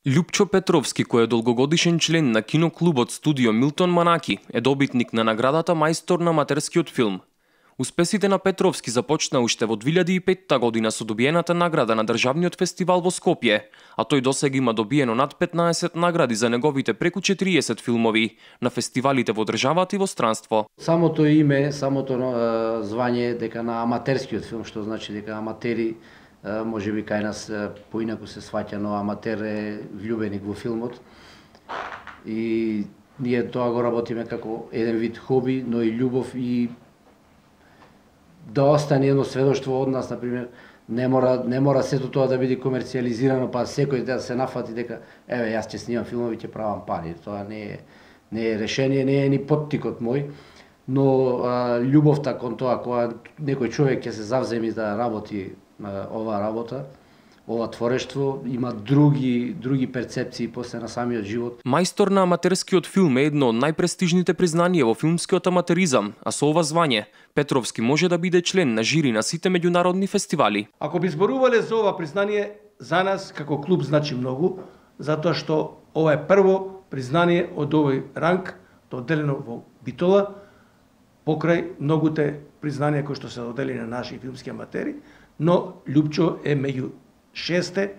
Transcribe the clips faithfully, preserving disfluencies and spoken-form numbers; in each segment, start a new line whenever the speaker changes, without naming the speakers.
Љупчо Петровски, кој е долгогодишен член на киноклубот студио Милтон Манаки, е добитник на наградата мајстор на аматерскиот филм. Успесите на Петровски започна уште во две илјади и петта година со добиената награда на државниот фестивал во Скопје, а тој досега има добиено над петнаесет награди за неговите преку четириесет филмови на фестивалите во државата и во странство.
Самото име, самото звање дека на аматерскиот филм, што значи дека аматери, може би кај нас поинаку се сваќа, но аматер е влюбеник во филмот. И ние тоа го работиме како еден вид хоби, но и љубов, и да остане едно сведоштво од нас, например, не мора не мора сето тоа да биде комерцијализирано, па секој да се нафати дека еве јас ќе снимам филмови, ќе правам пари. Тоа не е не е решение, не е ни поттикот мој, но а, љубовта кон тоа кога некој човек ќе се завземи да работи а, оваа работа, ова творештво, има други други перцепции после на самиот живот.
Мајстор на аматерскиот филм е едно од најпрестижните признанија во филмскиот аматеризам, а со ова звање Петровски може да биде член на жири на сите меѓународни фестивали.
Ако би зборувале за ова признание, за нас како клуб значи многу, затоа што ова е прво признание од овој ранг, доделено во Битола, покрај многуте признанија кои што се доделени на наши филмски аматери, но Љупчо е меѓу шесте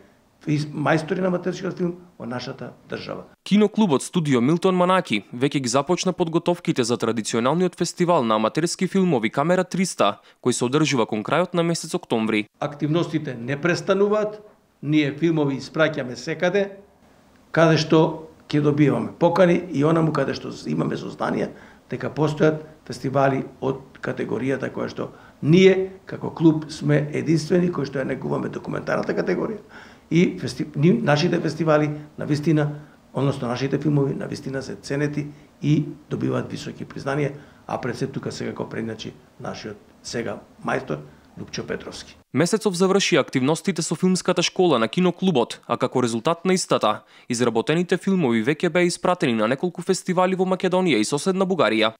мајстори на аматерскиот филм во нашата држава.
Киноклубот студио Милтон Манаки веќе ги започна подготовките за традиционалниот фестивал на аматерски филмови Камера триста, кој се одржува кон крајот на месец октомври.
Активностите не престануваат, ние филмови испраќаме секаде, каде што ќе добиваме покани и онаму каде што имаме сознание дека постојат фестивали од категоријата која што ние како клуб сме единствени кои што ја негуваме документарната категорија и фести... нашите фестивали на вистина, односно нашите филмови на вистина се ценети и добиваат високи признанија, а пред се тука сега го предначи нашиот сега мајстор Љупчо Петровски.
Месецов заврши активностите со филмската школа на киноклубот, а како резултат на истата, изработените филмови веќе беа испратени на неколку фестивали во Македонија и соседна Бугарија.